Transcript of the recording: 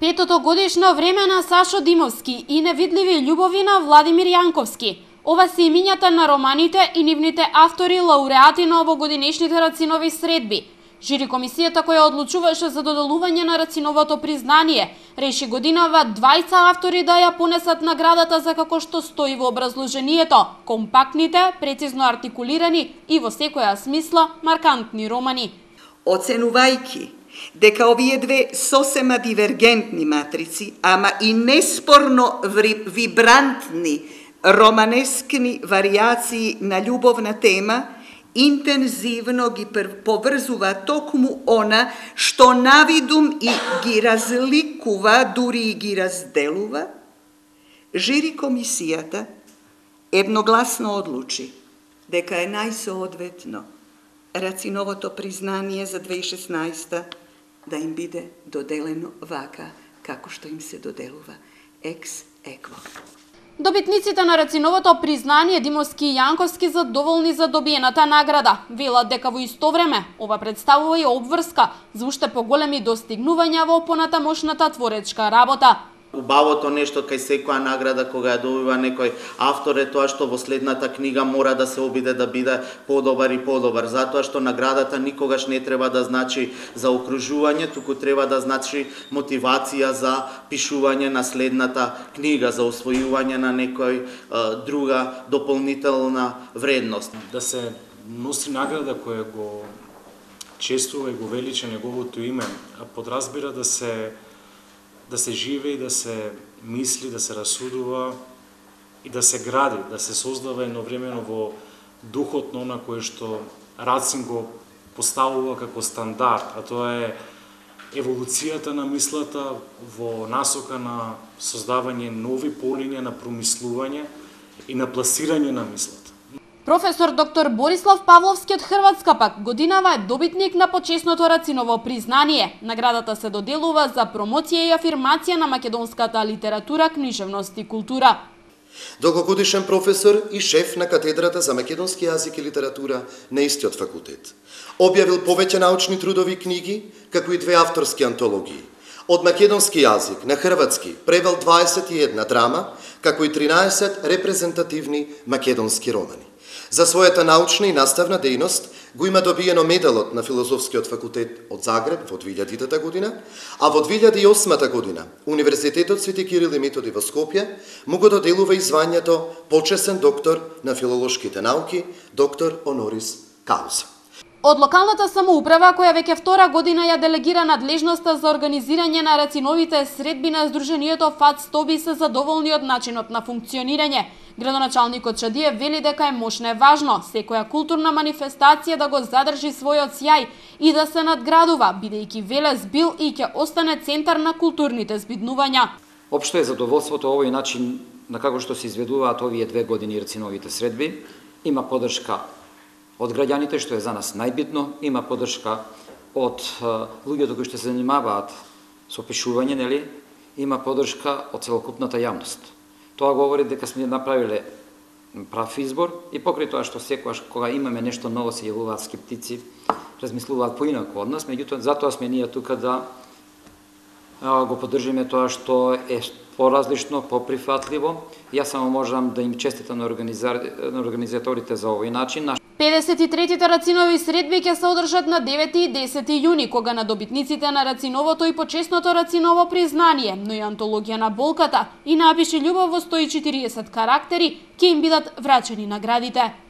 Петото годишно време на Сашо Димовски и невидливи љубови на Владимир Јанковски. Ова се имињата на романите и нивните автори лауреати на овогодинешните Рацинови средби. Жири комисијата која одлучуваше за доделување на Рациновото признание реши годинава 20 автори да ја понесат наградата за како што стои во образложението: компактните, прецизно артикулирани и во секоја смисла маркантни романи. Оценувајќи дека овие две сосема дивергентни матрици, ама и неспорно вибрантни романескни варијации на љубовна тема, интензивно ги поврзува токму она што навидум и ги разликува, дури и ги разделува, жири комисијата едногласно одлучи дека е најсоодветно Рациновото признание за 2016 да им биде доделено вака, како што им се доделува екс екво. Добитниците на Рациновото признание Димовски и Јанковски задоволни за добиената награда. Велат дека во исто време ова представува и обврска за уште поголеми достигнувања во понатамошната творечка работа. Убавото нешто кај секоја награда кога ја добива некој автор е тоа што во следната книга мора да се обиде да биде подобар и подобар, затоа што наградата никогаш не треба да значи за окружување, туку треба да значи мотивација за пишување на следната книга, за освојување на некој друга дополнителна вредност. Да се носи награда која го чествува и го велича неговото име, а подразбира да се живее, да се мисли, да се расудува и да се гради, да се создава едновремено во духот на она кое што Рацин го поставува како стандард, а тоа е еволуцијата на мислата во насока на создавање нови полиња на промислување и на пласирање на мислата. Професор доктор Борислав Павловски од Хрватска пак годинава е добитник на почесното Рациново признание. Наградата се доделува за промоција и афирмација на македонската литература, книжевност и култура. Долгогодишен професор и шеф на катедрата за македонски јазик и литература на истиот факултет. Објавил повеќе научни трудови книги, како и две авторски антологии. Од македонски јазик на хрватски превел 21 драма, како и 13 репрезентативни македонски романи. За својата научна и наставна дејност го има добиено медалот на Филозофскиот факултет од Загреб во 2000 година, а во 2008 година Универзитетот Свети Кирил и Методи во Скопје му го доделува и звањето почесен доктор на филолошките науки, доктор онорис кауза. Од локалната самоуправа, која веќе втора година ја делегира надлежноста за организирање на Рациновите средби на Сдруженијето ФАЦ-Тоби, се задоволни од начинот на функционирање. Градоначалникот Чадиев вели дека е мощно важно секоја културна манифестација да го задржи својот сјај и да се надградува, бидејќи Велес бил и ќе остане центар на културните збиднувања. Општо е задоволството овој начин на како што се изведуваат овие 2 години Рациновите средби. Има поддршка од граѓаните, што е за нас најбитно, има поддршка од луѓето кои што се занимаваат со пишување, нели? Има поддршка од целокупната јавност. Тоа говори дека сме направиле прав избор и покрај тоа што секогаш кога имаме нешто ново се јавуваат скептици, размислуваат поинаку од нас, меѓутоа затоа сме ние тука да го поддржиме тоа што е поразлично, поприфатливо. Јас само можам да им честитам на организаторите за овој начин. 53-тите Рацинови средби ќе се одржат на 9 и 10 јуни, кога на добитниците на Рациновото и почесното Рациново признание, но и антологија на болката и Напиши љубов во 140 карактери ќе им бидат врачени наградите.